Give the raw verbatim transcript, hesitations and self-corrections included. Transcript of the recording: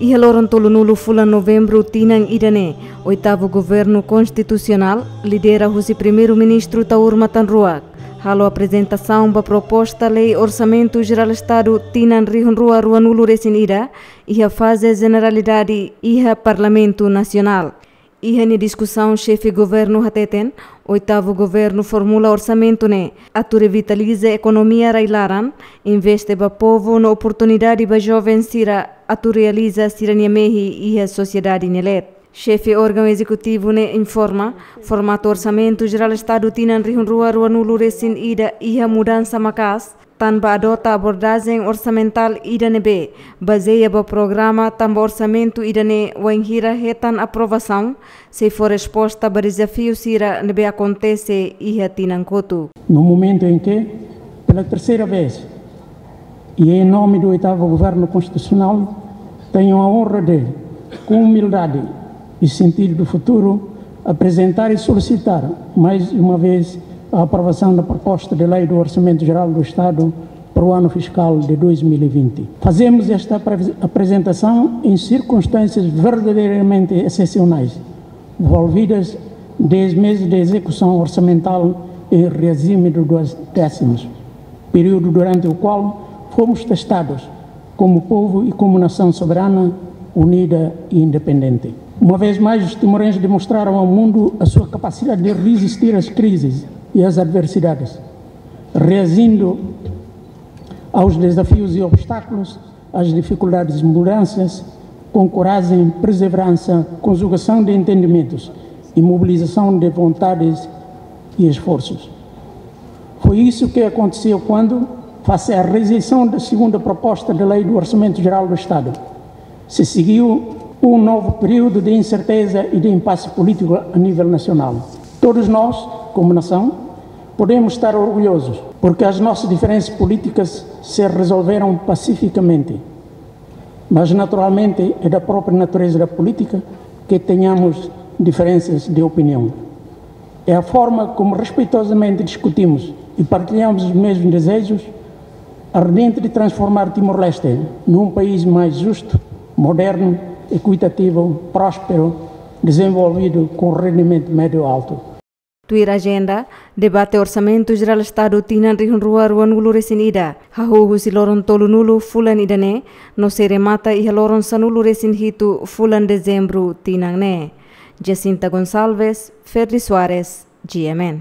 Iha loron tolunulu fulan Novembru tinan ida-ne'e, oitavu Governu Konstitusionál, lidera husi Primeiru-Ministru Taur Matan Ruak, halo aprezentasaun ba proposta lei Orsamentu Jerál Estadu tinan rihun rua ruanulu resin ida, iha faze jeneralidade iha Parlamentu Nasionál. Iha nia diskusaun, Xefe Governu hateten, oitavu Governu formula orsamentu ne'e atu revitaliza ekonomia rai-laran, investe ba povu no oportunidade ba joven sira atu realiza sira-nia mehi iha sosiedade nia leet. Xefe órgaun ezekutivu ne'e informa, formatu Orsamentu Jerál Estadu tinan rihun rua ruanulu resin ida iha mudansa maka'as, tanba adota abordajen orsamentál ida ne'ebé bazeia ba programa, tanba orsamentu ida-ne'e wainhira hetan aprovasaun, sei fó resposta ba dezafiu sira ne'ebé akontese iha tinan kotuk. No momento em que, pela terceira vez, e em nome do oitavo Governo Constitucional, tenho a honra de, com humildade e sentido do futuro, apresentar e solicitar, mais uma vez, a aprovação da proposta de lei do Orçamento Geral do Estado para o ano fiscal de dois mil e vinte. Fazemos esta apre-, apresentação em circunstâncias verdadeiramente excepcionais, envolvidas dez meses de execução orçamental em regime de duodécimos, período durante o qual fomos testados como povo e como nação soberana, unida e independente. Uma vez mais, os timorenses demonstraram ao mundo a sua capacidade de resistir às crises e às adversidades, reagindo aos desafios e obstáculos, às dificuldades e mudanças, com coragem, perseverança, conjugação de entendimentos e mobilização de vontades e esforços. Foi isso que aconteceu quando, face à rejeição da segunda proposta de lei do Orçamento Geral do Estado, se seguiu um novo período de incerteza e de impasse político a nível nacional. Todos nós, como nação, podemos estar orgulhosos, porque as nossas diferenças políticas se resolveram pacificamente. Mas, naturalmente, é da própria natureza da política que tenhamos diferenças de opinião. É a forma como respeitosamente discutimos e partilhamos os mesmos desejos, ardente de transformar Timor-Leste num país mais justo, moderno, equitativo, próspero, desenvolvido com rendimento médio alto. Tuir ajenda, debate Orsamentu Jerál Estadu tinan rihun rua ruanulu resin ida, hahú husi loron tolunulu fulan ida-ne'e, no sei remata iha loron sanulu resin hitu fulan Dezembru tinan ne'e. Jacinta Gonçalves, Ferdi Soares, G M N.